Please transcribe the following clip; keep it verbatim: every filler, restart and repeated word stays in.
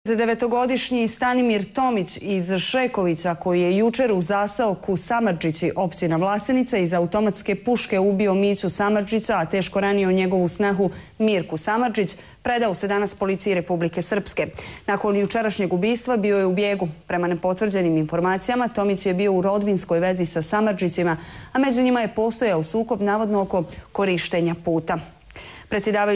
devetogodišnji Stanimir Tomić iz Šekovića, koji je jučer u zaseoku Samardžići, općina Vlasenica, iz automatske puške ubio Miću Samardžića, a teško ranio njegovu snahu Mirku Samardžić, predao se danas policiji Republike Srpske. Nakon jučerašnjeg ubistva bio je u bijegu. Prema nepotvrđenim informacijama, Tomić je bio u rodbinskoj vezi sa Samardžićima, a među njima je postojao sukob navodno oko korištenja puta. Predsjedavajući